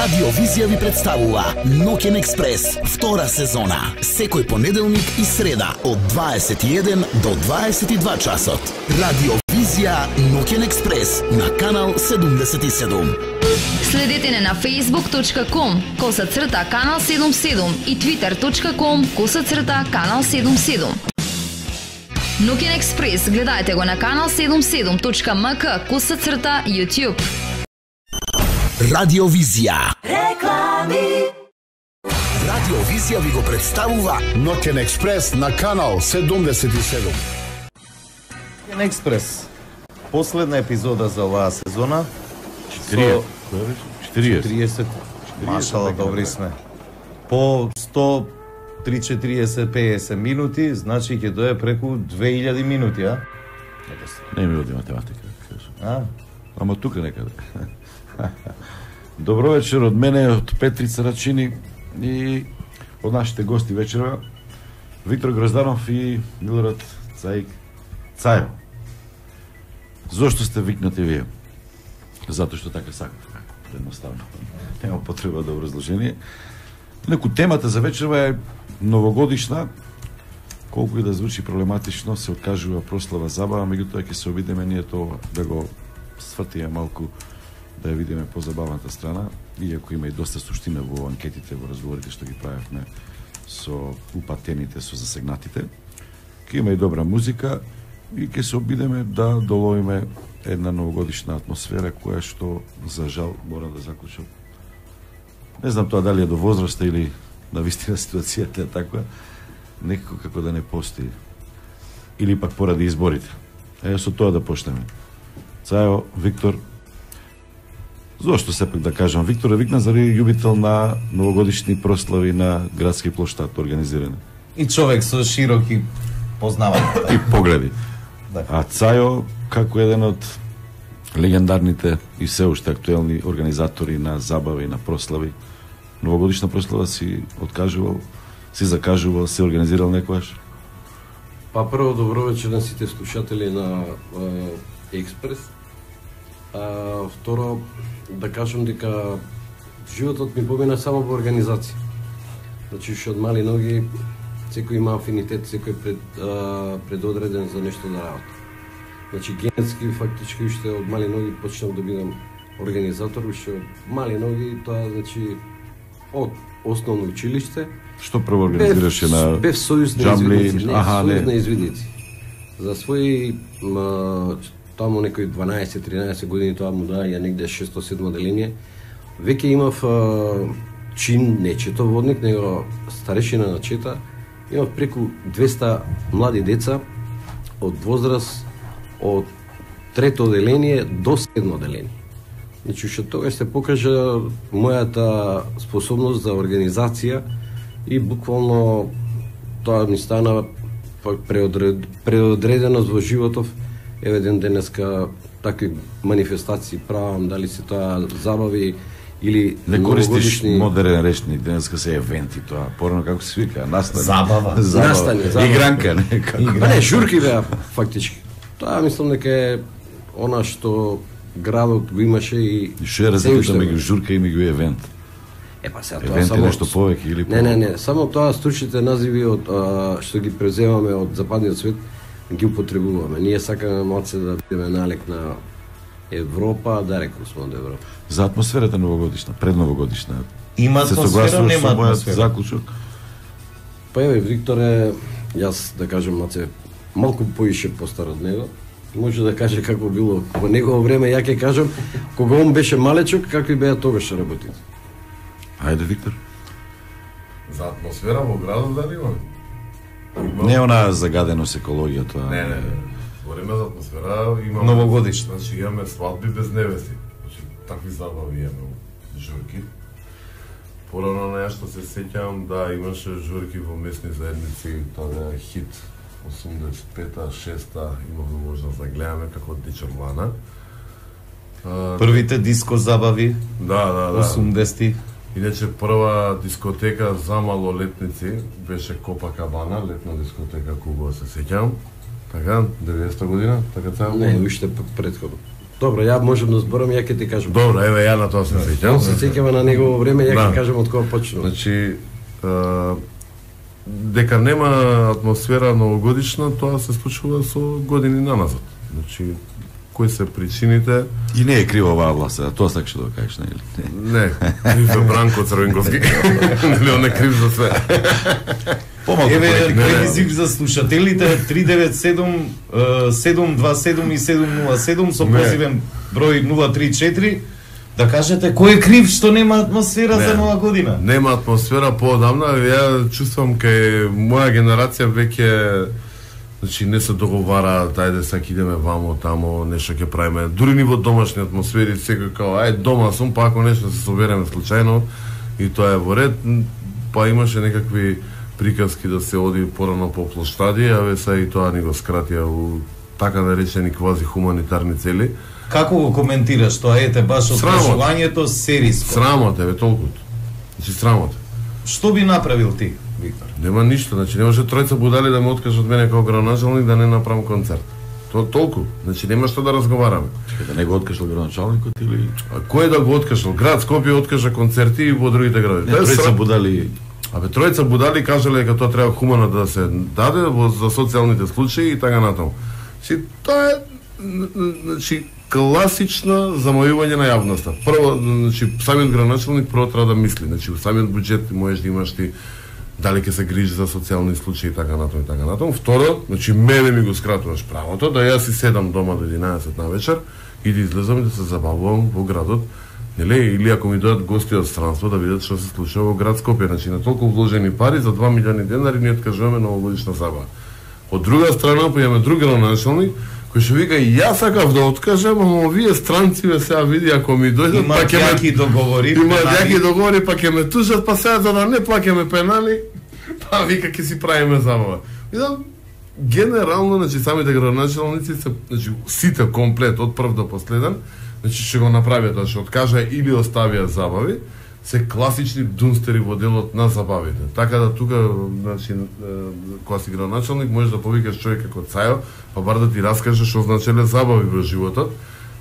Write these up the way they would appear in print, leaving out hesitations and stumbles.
Радио Визија ви представува Ноќен експрес, втора сезона. Секој понеделник и среда од 21 до 22 часот. Радио Визија Ноќен експрес на канал 77. Следете не на facebook.com/канал 77 и twitter.com/канал 77. Ноќен експрес гледајте го на канал 77.mk/YouTube. Радио Визија. Реклами. Радио Визија ви го представува Ноќен експрес на канал 77. Ноќен експрес. Последна епизода за оваа сезона. 40. Машала, добри сме. По 130-40-50 минути, значи ќе дое преку 2000 минути, а? Не ми оди математика. А? Тука некаде. Добро вечер од мене, од Петрица Рачини и од нашите гости вечера Виктор Грозданов и Милорад Цајо. Зошто сте викнати вие? Затоа што така сакате. Едноставно. Нема потреба да образложение. Неку темата за вечерва е новогодишна. Колку и да звучи проблематично, се откажува прослава забава, меѓутоа ќе се обидеме ние тоа да го свртиме малку, да ја видиме позабавната страна, иако има и доста суштина во анкетите, во разговорите што ги правевме со упатените, со засегнатите. Ке има и добра музика и ќе се обидеме да доловиме една новогодишна атмосфера која што, за жал, мора да заклучам. Не знам тоа дали е до возраста или на вистина ситуацијата е таква, некако како да не постои. Или пак поради изборите. Со тоа да почнеме. Цајо, Виктор, зошто сепак да кажам, Виктор е викнан заради љубител на новогодишни прослави на градски плоштад организирани. И човек со широки познавања. И погледи. Да. А Цајо, како еден од легендарните и се уште актуелни организатори на забави, на прослави, новогодишна прослава си откажувал, си закажувал, си организирал некојаш? Па прво добро вечер на сите слушатели на Експрес. Второ, да кажам дека животот ми помина само во организација. Значи, уште од мали ноги, секој има афинитет, секој предодреден за нешто да работи. Значи, генетски, фактички, уште од мали ноги почнав да бидам организатор, уште од мали ноги, тоа, значи, од основно училиште. Што прво организираше на Бев сојуз на джамли? извидници, сојуз на извидници. За своји таму некои 12-13 години, тоа му даја негде 6-7 деление. Веќе имав чин, не четоводник, него старешина на чета. Имав преку 200 млади деца од возраст од трето оделение до 7 оделение. Значи, уште тогаш се покажа мојата способност за организација и буквално тоа ми стана преодреденост во животов. Еве ден денеска такви манифестации правам, дали се тоа забави или Не користиш новогодишни модерен речник, денеска се евенти тоа. Порано како се вика, настани. Забава. Настани, забава. Игранка, не како. Па не, журки беа фактички. Тоа мислам дека е она што градот го имаше и Што е разликата меѓу журка и меѓу евент? Па сега тоа Евент е само нешто повеќе или Не, само тоа стручните називи од што ги преземаме од западниот свет ги употребуваме. Ние сакаме малце да бидеме налик на Европа, далеку сме од Европа. За атмосферата новогодишна, предновогодишна. Има се атмосфера, согласуваш нема со мојот атмосфера. заклучок? Па еве, Викторе, јас да кажем малце малку поише постар од него. Може да каже како било во негово време, ја ќе кажам, кога он беше малечок, какви беа тогаш работите. Ајде, Виктор. За атмосфера во градот дали има? Не е она загаденост екологија тоа. Не. Говориме за атмосфера, имаме Новогодишна. Значи имаме свадби без невести. Значи такви забави имаме, журки. Порано на што се сеќавам, да, имаше журки во местни заедници, тоа е хит 85-та, 6-та, имавме можност да гледаме како Дичорлана. Првите диско забави, Да. 80-ти. Иначе прва дискотека за малолетници беше Копакабана, летна дискотека Куба, се сеќавам. Така, 90-та година, така цел. Не, уште предходно. Добро, ја можам да зборам, ја ќе ти кажам. Добро, еве ја на тоа се сеќам. Се сеќава на негово време, ја ќе кажам од кога почнува. Значи, дека нема атмосфера новогодишна, тоа се случува со години наназад. Значи, кои се причините? И не е крива оваа власт, тоа сакаш да кажеш, нели? Не, крив е Бранко Црвенковски. Нели он е крив за све. Еве ревизив за слушателите 397 727 и 707 со позивен број 034 да кажете кој е крив што нема атмосфера за нова година. Нема атмосфера поодамна, ја чувствам кај моја генерација веќе значи не се договара тајде сак идеме вамо тамо нешто ќе правиме. Дури ни во домашни атмосфери секој као ај дома сум па ако нешто се собереме случајно и тоа е во ред, па имаше некакви приказки да се оди порано по плоштади, а ве са и тоа ни го скратија у така наречени квази хуманитарни цели. Како го коментираш тоа? Ете баш од прашувањето сериско. Срамот е, толкото. Значи срамот. Што би направил ти, Виктор? Нема ништо, значи не може тројца будали да ме откажат мене како градоначалник да не направам концерт. Тоа толку. Значи нема што да разговараме. Чекај, да не го откажал градоначалникот или кој да го откажал? Град Скопје откажа концерти и во другите градови. тројца будали. Абе тројца будали кажале дека тоа треба хумано да се даде за социјалните случаи и така натаму. Значи тоа е значи класично замојување на јавноста. Прво, значи самиот градоначалник прво треба да мисли, значи во самиот буџет можеш да имаш ти дали ќе се грижи за социјални случаи и така натаму и така натаму. Второ, значи мене ми го скратуваш правото да јас си седам дома до 11 на вечер и да излезам и да се забавувам во градот. Нели, или ако ми дојдат гости од странство да видат што се случува во град Скопје, значи на толку вложени пари за 2 милиони денари ни откажуваме новогодишна забава. Од друга страна, па имаме друг градоначалник кој што вика јас сакав да откажам, ама овие странци сега види ако ми дојдат па ќе ме договори, па ќе ме тужат, па сега за да не плаќаме пенали, па вика ќе си правиме забава. Видам генерално, значи самите градоначалници се, значи сите комплет од прв до последен, значи ќе го направиат тоа, што откажа или оставија забави, се класични дунстери во делот на забавите. Така да тука, значи, кога си градоначалник, можеш да повикаш човек како Цајо, па бар да ти раскаже што значеле забави во животот,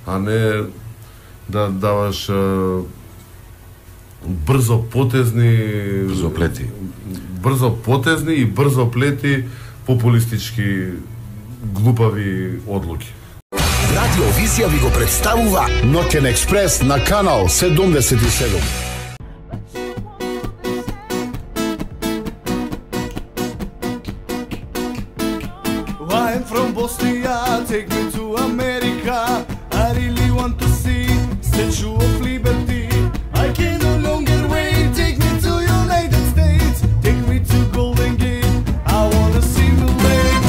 а не да даваш брзопотезни и брзоплети популистички глупави одлуки. Радио Визија ви го представува Ноќен експрес на канал 77. I'm from Bosnia, take me to America. I really want to see Statue of Liberty. I can no longer wait, take me to United States. Take me to Golden Gate, I wanna see the lake.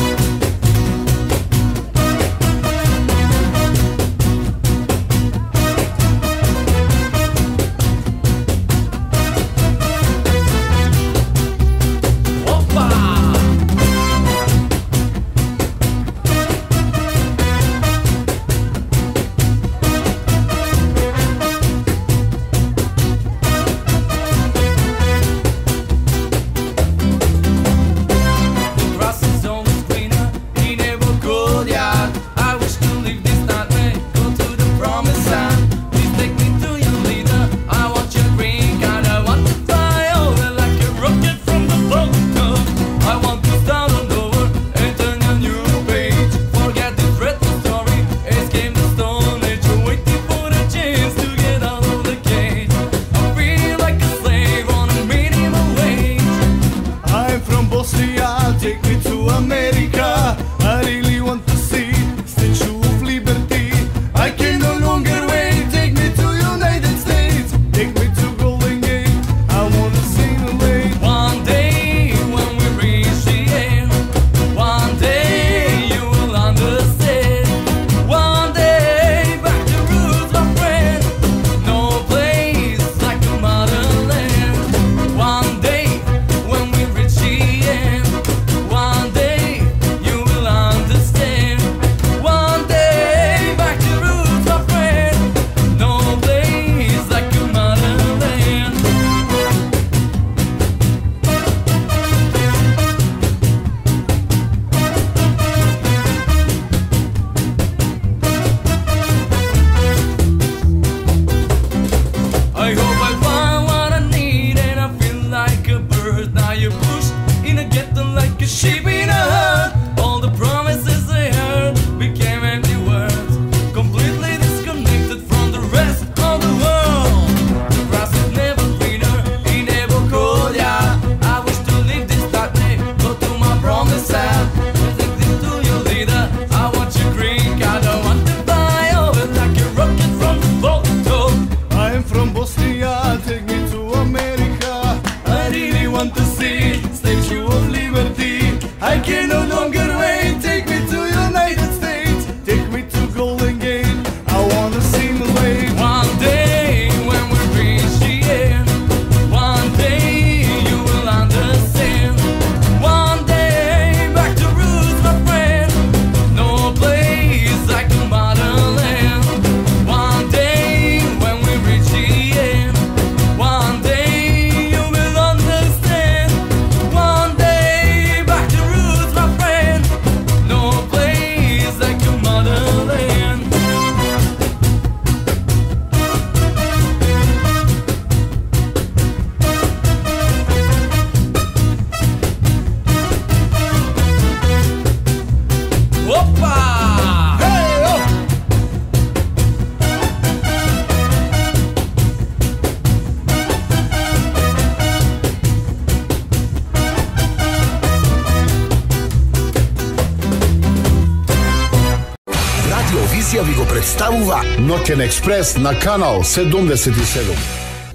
представува Ноќен експрес на канал 77.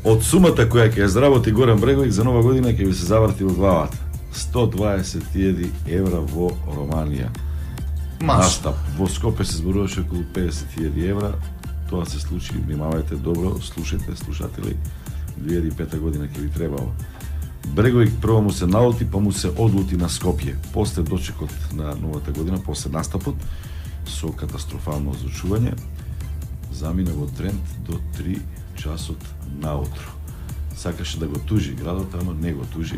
Од сумата која ќе ја заработи Горан Бреговик за нова година ќе ви се заврти во главата. 120.000 евра во Романија. Настап. Во Скопје се зборуваше околу 50.000 евра. Тоа се случи, внимавајте добро, слушајте, слушатели. 2005 година ќе ви требало. Бреговик прво му се налути, па му се одлути на Скопје. После дочекот на новата година, после настапот, со катастрофално озвучување, замина во тренд до 3 часот наутро. Сакаше да го тужи градот, ама не го тужи.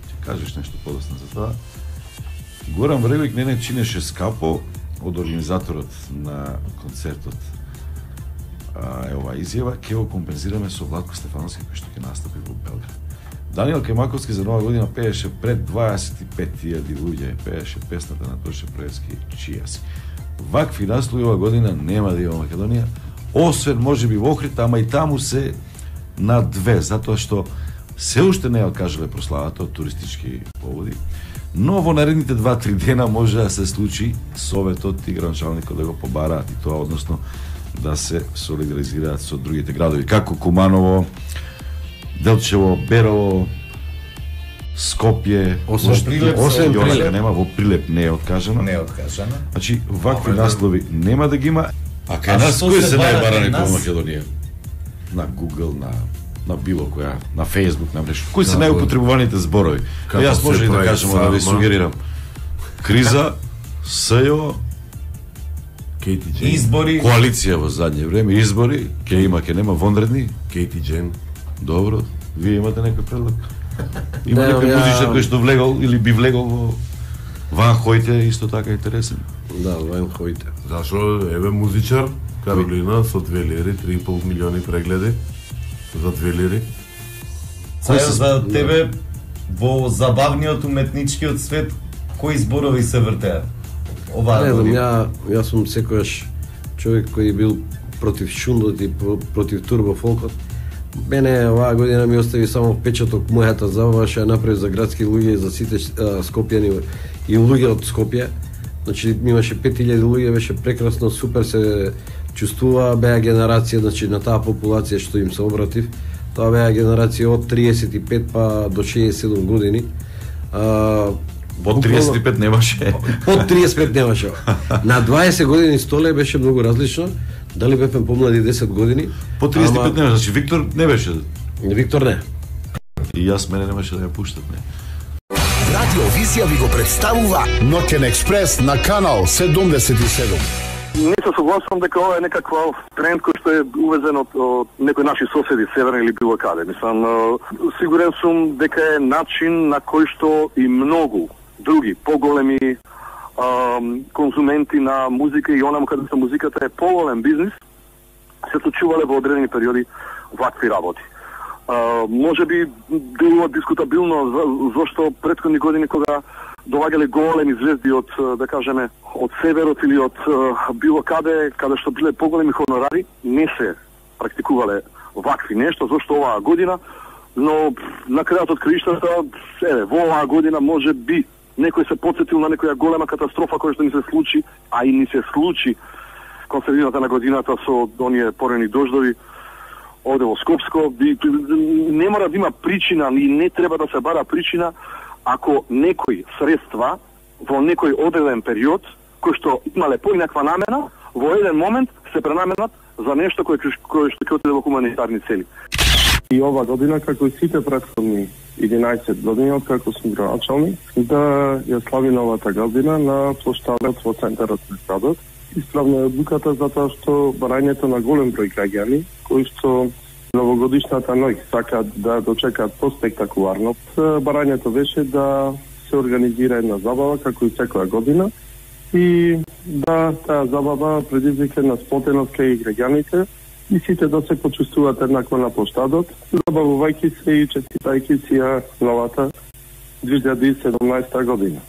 Ќе кажеш нешто подоцна за тоа. Горан Бреговик не чинеше скапо од организаторот на концертот. Оваа изјава ќе го компензираме со Владко Стефановски кој што ќе настапи во Белград. Даниел Кемаковски за нова година пееше пред 25.000 луѓе, пееше песната на Тоше Проевски "Чија си". Вакви наслови ова година нема да има Македонија, освен можеби во Охрид, ама и таму се на две, затоа што се уште не ја откажале прославата од туристички поводи. Но во наредните 2-3 дена може да се случи Советот и гранчалникот да го побараат и тоа, односно да се солидаризираат со другите градови, како Куманово, Делчево, Берово, Скопје, освен Прилеп нема, во Прилеп не е откажано. Не е откажано. Значи, вакви наслови нема да ги има. А кај нас кои се најбарани по Македонија? На Google, на било која, на Facebook, на мрежа. Кои се најупотребуваните зборови? Јас може и да кажам, да ви сугерирам. Криза, СЈО, избори, коалиција во задње време, избори, ќе има, ќе нема, вонредни, Кейти Джен. Добро, вие имате некој предлог? Има некој музичар кој што влегол или би влегол во Ван Хојте, исто така интересен. Да, Ван Хојте. Зашо, еве музичар, Каролина, со 2 лири, 3,5 милиони прегледи, за 2 лири. Сајо, за тебе, во забавниот уметничкиот свет, кои зборови се вртеат? Не знам, јас сум секојаш човек кој бил против шундот и против турбофолкот. Мене оваа година ми остави само впечаток мојата забава што ја направи за градски луѓе и за сите скопјани и луѓе од Скопје. Значи имаше 5000 луѓе, беше прекрасно, супер се чувствува, беа генерација, значи на таа популација што им се обратив. Тоа беа генерација од 35 па до 67 години. Под 35 немаше. Под 35 немаше. На 20 години столе беше многу различно. Дали бевме помлади 10 години? По 35 немаше, значи Виктор не беше. Виктор не. И јас мене немаше да ја пуштат, не. Радио Визија ви го представува Ноќен експрес на канал 77. Не се согласувам дека ова е некаква тренд кој што е увезен од некои наши соседи, северни или било каде. Мислам, сигурен сум дека е начин на кој што и многу други поголеми конзументи на музика и онаму каде што музиката е поголем бизнис, се случувале во одредени периоди вакви работи. Може би било дискутабилно зашто претходни години кога доаѓале големи звезди од, да кажеме, од северот или од било каде што биле поголеми хонорари, не се практикувале вакви нешто, зашто оваа година, но на крајот од краиштата, во оваа година може би некој се потсетил на некоја голема катастрофа која што ни се случи, а и ни се случи кон средината на годината со оние порени дождови оде во Скопско. Не мора да има причина и не треба да се бара причина ако некои средства во некој одреден период кој што имале поинаква намена, во еден момент се пренаменат за нешто кое што ќе отиде во хуманитарни цели. И ова година, како и сите претходни 11 години, откако сум градоначалник, да ја слави новата година на плоштадот во центарот на градот. Исправна е одлуката затоа што барањето на голем број граѓани, кои што новогодишната ноќ сакаат да дочекаат поспектакуларно. Барањето беше да се организира една забава, како и секоја година, и да таа забава предизвика на сплотеност кај граѓаните и сите да се почувствуваат еднакво на плоштадот, забавувајќи се и честитајќи си ја новата 2017 година.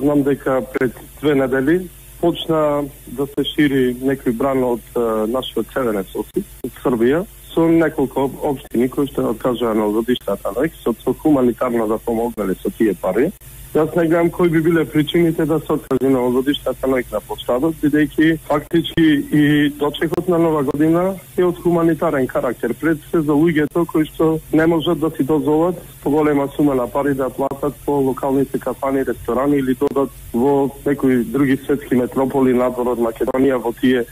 Знам дека пред 2 недели почна да се шири некој бран од нашиот северен сосед, од Србија, со неколку општини кои што откажаа на годиштата, со хуманитарно да помогнале со тие пари. Јас не гледам кои би биле причините да се откаже на годиштата на площадот, бидејќи фактички и дочекот на нова година е од хуманитарен карактер. Пред се за луѓето кои што не можат да си дозволат поголема сума на пари да платат по локалните кафани, ресторани или додат во некои други светски метрополи надвор од Македонија во тие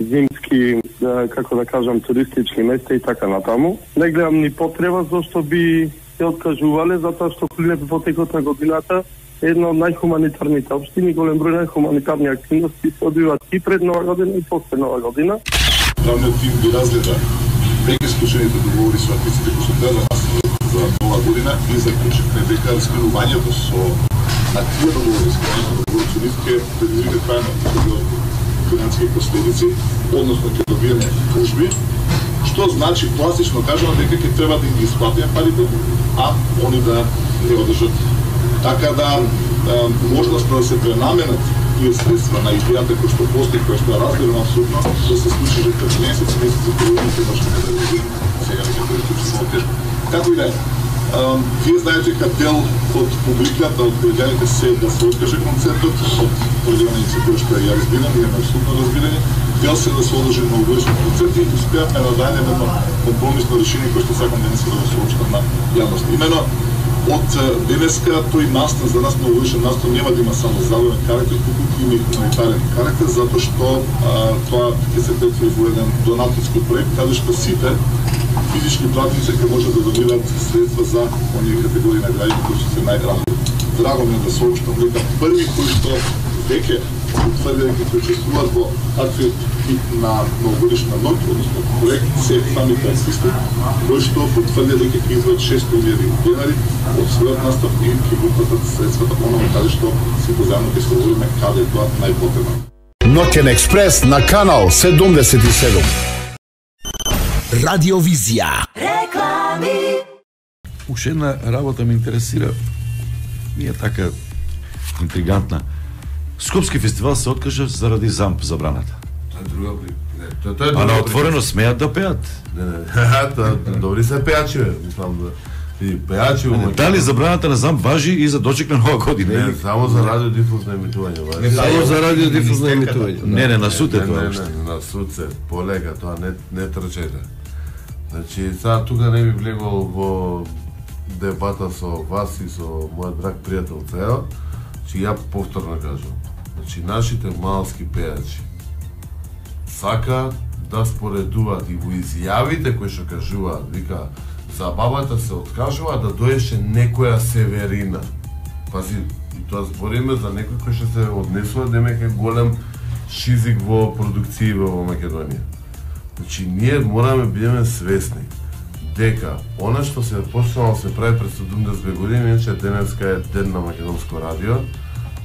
зимски, како да кажам, туристички места и така натаму. Не гледам ни потреба зашто би се откажувале, затоа што Прилеп во текот на годината е една од најхуманитарните општини, голем број на хуманитарни активности се одвиваат и пред Нова година и после Нова година. Правниот тим ги разгледа веќе склучените договори со артистите кои се треба за Нова година и заклучивме дека сменувањето со тие договори со нив ќе предизвика трајно финансиски последици, односно ќе добиеме тужби, што значи класично кажано дека ќе треба да ги исплатиме парите, а они да не одржат. Така да можноста да се пренаменат тие средства на идејата кој што постои, кој што е разбирано апсолутно, да се случи дека месец за првите може да се сега ќе тоа е тешко. Како и да е. Вие знаете дека дел од публиката, од граѓаните се да се откаже концертот, од определена инициатива што ја разбирам, имаме абсолютно разбирање, дел се да се одржи новогодишен концерт и успеавме да дајдеме едно компромисно решение кое што сакам денеска да го соопштам на јавност. Имено од денеска тој настан за нас новогодишен настан нема да има само забавен карактер, туку има и хуманитарен карактер, затоа што тоа ќе се претвори во еден донативски проект каде што сите физички пратници ќе може да добиваат средства за оние категории на граѓани кои се најранливи. Драго ми е да соопштам дека први кои што веќе утврди дека ќе учествуваат во таквиот тип на новогодишна ноќ, односно проект, се самите артисти, кои што потврди дека ќе изваат 600.000 денари од својот настав и ќе го платат средствата онаму каде што си позајмно ќе се говориме каде е тоа најпотребно. Ноќен експрес на канал 77. Радиовизија. Реклами. Уште една работа ме интересира. Ми е така интригантна. Скопски фестивал се откажа заради ЗАМП забраната. Тоа е друга А на отворено смеат да пеат. Не, добри се пеачи, мислам да. И пеачи, дали забраната на ЗАМП важи и за дочек на Нова година? Не, само за радиодифузно емитување. Не само за радиодифузно емитување. Не, на суд е тоа. На суд се, полека, тоа не трчете. Значи, сега тука не би влегол во дебата со вас и со мојот драг пријател Цео, че ја повторно кажам. Значи, нашите малски пеачи сака да споредуваат и во изјавите кои што кажуваат, вика, за бабата се откажува да доеше некоја Северина. Пази, и тоа збориме за некој кој што се однесува демека голем шизик во продукција во Македонија. Значи, ние мораме бидеме свесни дека она што се почнало се прави пред 70 години, иначе денеска е ден на македонско радио,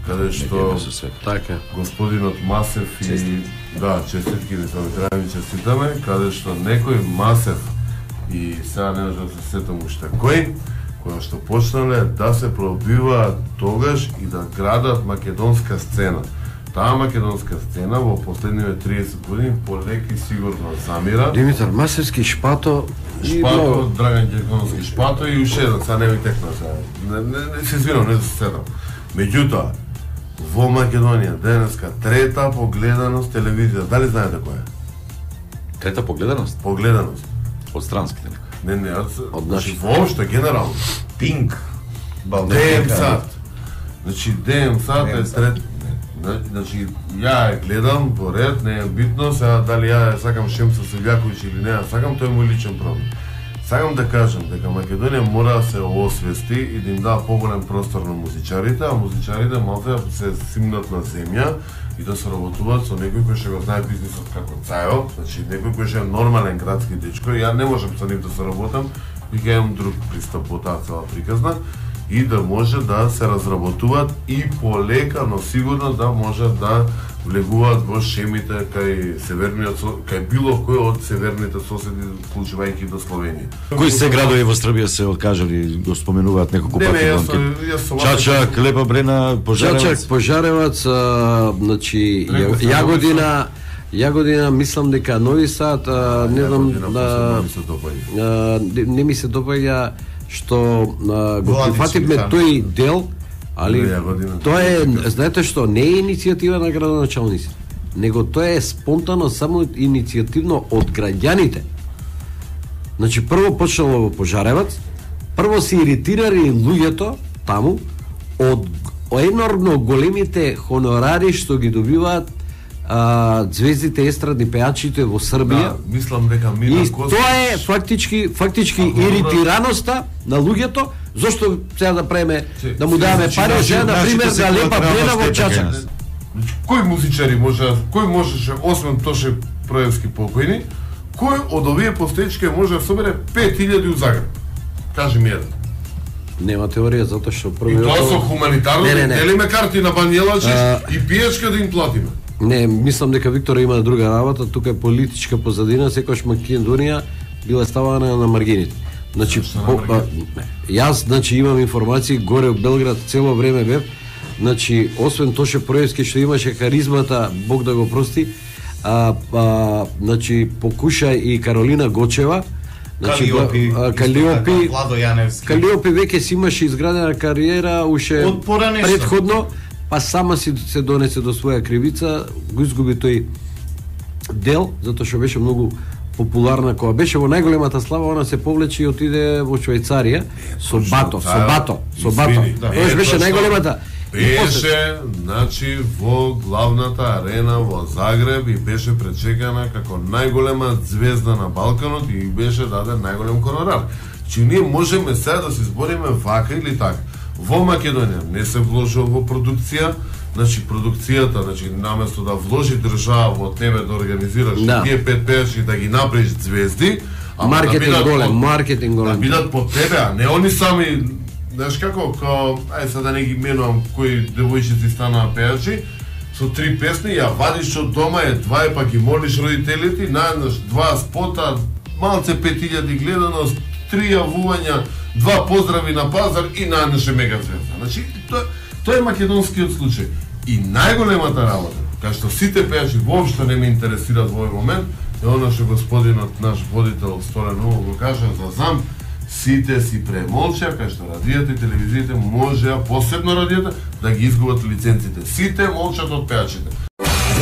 каде што така господинот Масев и да, честитки ни треба ми честитаме, каде што некој Масев и сега не можам да се сетам уште кој што почнале да се пробиваат тогаш и да градат македонска сцена. Таа македонска сцена во последниве 30 години полека и сигурно замира. Димитар Масевски, Шпато, Драган Ѓерковски, Шпато и уште еден, сега не ми текна сега. Не се извинам, не се седам. Меѓутоа, во Македонија денеска трета погледаност телевизија. Дали знаете која е? Трета погледаност? Погледаност. Од странските некои. Не, од наши. Воопшто, генерално. Пинк. ДМ Сат. Значи, ДМ Сат е трет. Значи, ја ја гледам по ред, не е битно, сега дали ја сакам Шемсо Севјаковиќ или не, сакам, тој е мој личен проблем. Сакам да кажам дека Македонија мора да се освести и да им дава поголем простор на музичарите, а музичарите малте да се симнат на земја и да се работуваат со некој кој што го знае бизнисот како Цајо, значи некој кој што е нормален градски дечко, ја не можам со нив да се работам, веќе имам друг пристап во таа цела приказна, и да може да се разработуваат и полека, но сигурно да може да влегуваат во шемите кај северниот, кај било кој од северните соседи, вклучувајќи до Словенија. Кои се градови во Србија се откажали, го споменуваат неколку пати? Чачак, Лепа Брена, Пожаревац. Чачак, Пожаревац, значи Јагодина, Јагодина мислам дека Нови Сад, не знам не ми се допаѓа што го прифативме тој дел, али тоа е, знаете што, не е иницијатива на градоначалниците, него тоа е спонтано, само иницијативно од граѓаните. Значи прво почнало во Пожаревац, прво се иритирали луѓето таму од енормно големите хонорари што ги добиваат звездите естрадни пејачите во Србија. Да, мислам дека Милан Костич... Тоа е фактички иритираноста на луѓето, зошто сега да преме да му даваме пари, сега на пример за Лепа Брена во Чачак. Кој музичари можеше освен Тоше Проевски покојни, кој од овие постечки може да собере 5000 у Загреб? Кажи ми еден. Нема теорија, затоа што прво... И тоа со хуманитарно, делиме карти на Банјелачиш и пиечка да им платиме. Не, мислам дека Виктора има друга работа, тука е политичка позадина, секојаш Македонија била ставана на маргините. Значи, јас имам информации горе во Белград цело време бев, значи, освен Тоше Проевски што имаше харизмата, Бог да го прости, значи, покуша и Каролина Гочева, значи, Калиопи, Калиопи веќе си имаше изградена кариера уште предходно, па сама си се донесе до своја кривица, го изгуби тој дел, затоа што беше многу популарна, кога беше во најголемата слава, она се повлече и отиде во Швајцарија со Бато. Тоа беше најголемата. Беше, значи, во главната арена во Загреб и беше пречекана како најголема звезда на Балканот и беше даден најголем хонорар. Че ние можеме сега да се збориме вака или така. Во Македонија не се вложува во продукција, значи продукцијата, значи наместо да вложи држава во тебе да организираш тие 5 пејачи да ги направиш звезди, маркетинг голем, да бидат по тебе, а не они сами, знаеш како, ај сега да не ги менувам кои девојчици станаа пејачи, со 3 песни ја вадиш од дома, едва па ги молиш родителите, наеднаш 2 спота, малце 5000 гледаност, 3 јавувања, 2 поздрави на пазар и наеднаш е мега звезда. Значи, тоа е македонскиот случај. И најголемата работа, кај што сите пејачи воопшто не ме интересираат во овој момент, е она што господинот наш водител Столен Ново го кажа за зам, сите си премолча, кај што радијата и телевизиите можеа, посебно радијата, да ги изгубат лиценците. Сите молчат од пејачите.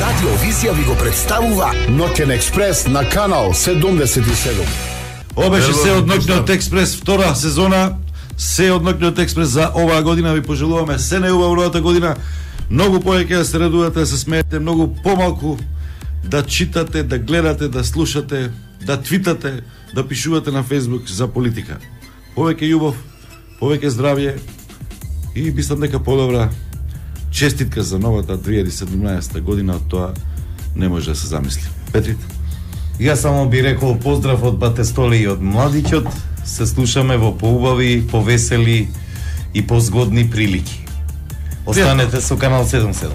Радио Визија ви го представува Ноќен експрес на канал 77. Ова беше се од Ноќниот експрес втора сезона. Се од Ноќниот експрес за оваа година ви пожелуваме се најубаво новата година. Многу повеќе да се радувате, да се смеете, многу помалку да читате, да гледате, да слушате, да твитате, да пишувате на Facebook за политика. Повеќе љубов, повеќе здравје и мислам дека подобра честитка за новата 2017 година, од тоа не може да се замисли. Петрит? Јас само би рекол поздрав од Батестоли и од младиќот. Се слушаме во поубави, повесели и позгодни прилики. Останете со канал 77.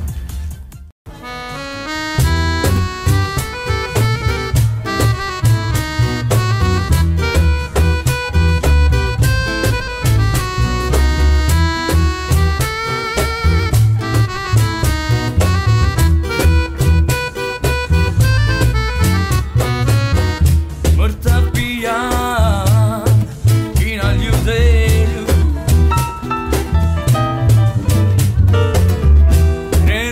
Ne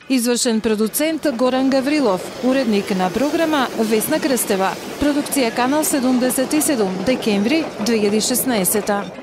Извршен продуцент Горан Гаврилов, уредник на програма Весна Крстева. Продукција Канал 77, декември 2016.